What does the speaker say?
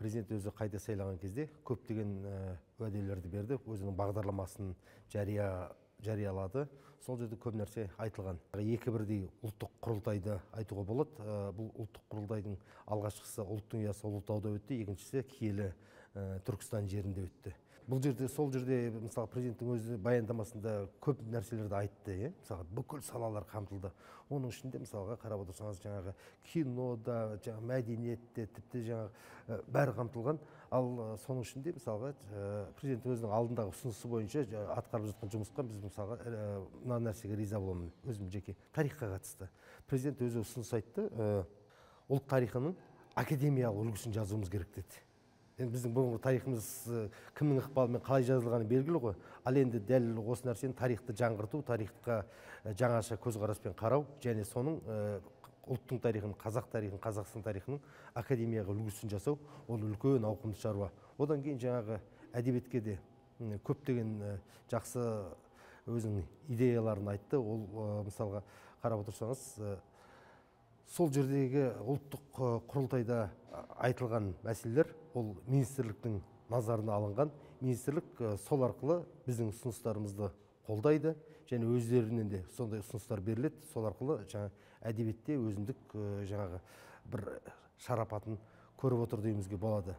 президент өзі қайта сайлаған кезде көптеген уәделерді берді, өзінің бағдарламасын жариялады. Сол жерде көп нәрсе айтылған. Екі бірдей ұлттық құрылтайды айтуға болады. Бұл ұлттық құрылтайдың алғашқысы ұлттың ұясы Ұлытауда өтті, екіншісі киелі Түркістан жерінде өтті. Бұл жерде, сол жерде, мысалы, президенттің өзі баяндамасында көп нәрселерді айтты, мысалы, бүкіл салалар қамтылды. Оның ішінде, мысалға, қарап отырсаңыз, жаңағы кинода, жаңағы мәдениетте, тіпті жаңағы бәрі қамтылған. Ал соның ішінде, мысалға, президент өзінің алдындағы ұсынысы бойынша атқарып жатқан жұмысқа біз, мысалға, мына нәрсеге риза боламын, өзім жеке тарихқа қатысты. Президент өзі ұсыныс айтты, ұлт тарихының академиялық үлгісін жазуымыз керек деді. Біздің бұрынғы тарихымыз кімнің ықпалымен қалай жазылғаны белгілі ғой. Ал енді дәл осы нәрсені тарихты жаңғырту, тарихқа жаңаша көзқараспен қарау, және соның ұлттың тарихын, қазақ тарихын, Қазақстан тарихының академияға үлгісін жасау, ол үлкен ауқымды шаруа. Одан кейін жаңағы әдебиетке де көптеген жақсы өзінің идеяларын айтты. Ол мысалға қарап отырсаңыз, сол жердегі ұлттық құрылтайда айтылған мәселелер ол министрліктің назарына алынған. Министрлік сол арқылы біздің ұсыныстарымызды қолдайды, және өздерінен де сондай ұсыныстар беріледі. Сол арқылы жаңа әдебиетте өзіндік жаңағы бір шарапатын көріп отыр деймізге болады.